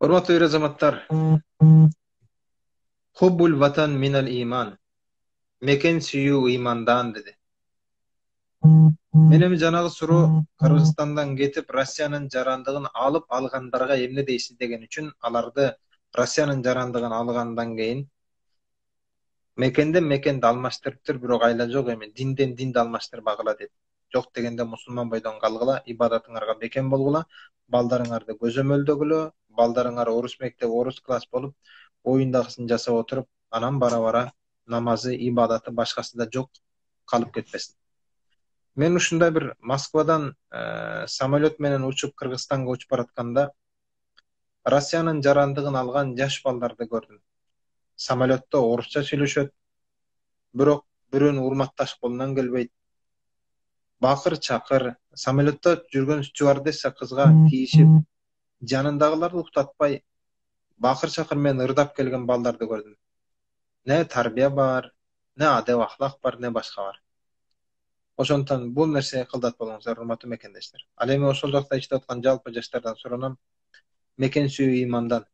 Урматтуу эр азаматтар, хуббул ватан минал иман. Мекен сүйүү ыймандан деди. Мен эми жанагы суроо Кыргызстандан кетип, Россиянын жарандыгын алып алгандарга эмне дейсиз деген үчүн аларды Россиянын жарандыгын алгандан кийин мекенден мекенди алмаштырыптыр, бирок айла жок эми динден динди алмаштырбагыла деди. Жок дегенде мусулман бойдон калгыла, ибадатыңарга бекем болгула, балдарыңарды көзөмөлдөгүлө, балдарыңар орус мектеби, орус класс болуп, оюндагысын жасап отуруп, анан бара-бара намазы, ибадаты, башкасы да жок калып кетпесин. Мен ушундай бир Москвадан самолет менен учуп Кыргызстанга учуп баратканда Россиянын жарандыгын алган жаш балдарды көрдүм. Самолетто орусча сүйлөшөт, бирок бирөөнү урматташ колунан келбейт. Бакыр чакыр, самолетто жүргөн стюардесса кызга тийишип, жанындагыларды уктатпай, бакыр чакыр менен ырдап келген балдарды көрдүм. Не тарбия бар, не адеп ахлак бар, не башка бар. Ошондон бул нерсеге кылдат болуңуздар, урматтуу мекендештер. Ал эми ошол жакта иштеп аткан жалпы жаштардан суранам, мекен сүйүү имандан.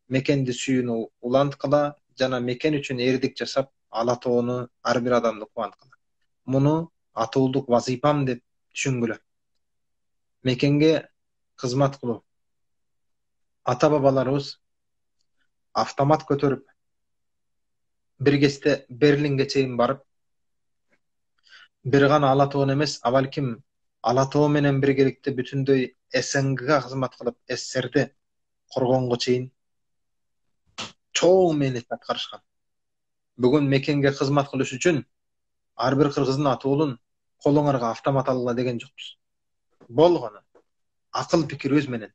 Мекенди сүйүүнү уланткыла жана мекен үчүн эрдик жасап, ала тоону ар бир адамды кубанткыла. Муну атуулук вазыйпам деп түшүнгүлө. Мекенге кызмат кылуу. Ата бабаларыбыз автомат көтөрүп бир кезде Берлинге чейин барып, бир гана ала тоон эмес, а балким ала тоо менен биргеликте бүтүндөй СНГга кызмат кылып, СССРди коргонго чейин чоң мээнет аткарышкан. Бүгүн мекенге кызмат кылыш үчүн ар бир кыргыздын атуулун колуңарга автомат алгыла деген жокпуз. Болгону акыл пикир өз менен,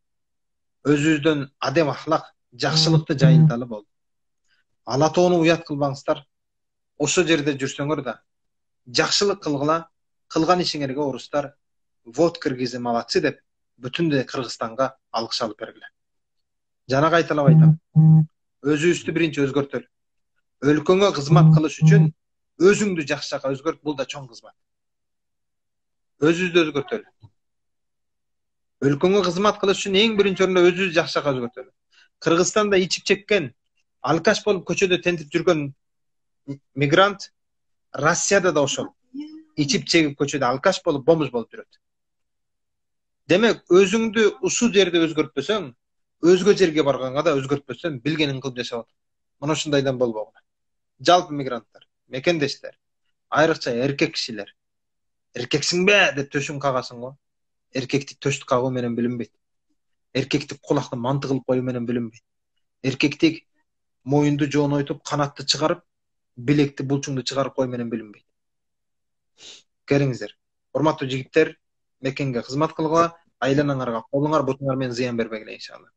өзүбүздөн адеп ахлак, жакшылыкты жайылталы болду. Ала тоону уят кылбаңыздар. Ошол жерде жүрсөңөр да жакшылык кылгыла, кылган ишиңерге орустар вот киргизи малатсы деп бүтүндөй Кыргызстанга алкыш алып бергиле. Жана кайталап айтам, өзүбүздү биринчи өзгөртөлү. Өлкөңө кызмат кылыш үчүн өзүңдү жакшы жака өзгөрт, бул да чоң кызмат. Өзүбүздү өзгөртөлү. Өлкөңө кызмат кылыш үчүн эң биринчи орунда өзүбүздү жакшы жака өзгөртөлү. Кыргызстанда ичип чеккен, алкаш болуп көчөдө тентип жүргөн мигрант Россияда да ошол. Ичип чегип көчөдө алкаш болуп, бомж болуп жүрөт. Демек, өзүңдү ушул жерде өзгөртпөсөң, өзгө жерге барганга да өзгөртпөсөң, билгениң кылып жашап атат. Мына ушундайдан болбогула. Жалпы мигранттар, мекендештер, айрыкча эркек кишилер. Эркексиңбе деп төшүң кагасың го. Эркектик төштү кагуу менен билинбейт. Эркектик кулакты манты кылып коюу менен билинбейт. Эркектик моюнду жонойтуп, канатты чыгарып, билекти, булчуңду чыгарып кою менен билинбейт. Келиңиздер. Урматтуу жигиттер, мекенге кызмат кылгыла, айланаңарга, колуңар, бутуңар менен зыян бербегиле иншалла.